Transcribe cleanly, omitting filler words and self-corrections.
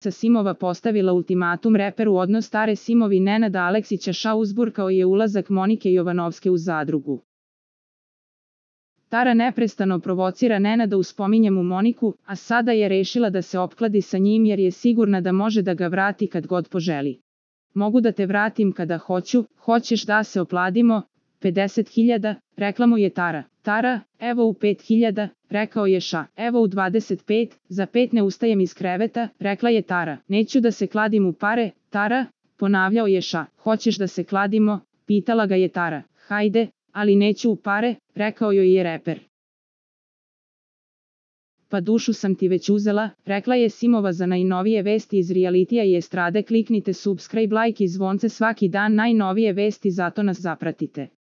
Simova postavila ultimatum reperu, odnos Tare Simovi Nenada Aleksića uzburkao je ulazak Monike Jovanovske u zadrugu. Tara neprestano provocira Nenada uz spominje mu Moniku, a sada je rešila da se opkladi sa njim jer je sigurna da može da ga vrati kad god poželi. Mogu da te vratim kada hoću, hoćeš da se opladimo? 50.000, rekla mu je Tara. Tara, evo u 5.000, rekao je evo u 25, za 5 ne ustajem iz kreveta, rekla je Tara. Neću da se kladim u pare, Tara, ponavljao je Hoćeš da se kladimo, pitala ga je Tara. Hajde, ali neću u pare, rekao joj je reper. Pa dušu sam ti već uzela, rekla je Simova. Za najnovije vesti iz realitija i estrade kliknite subscribe, like i zvonce svaki dan, najnovije vesti, zato nas zapratite.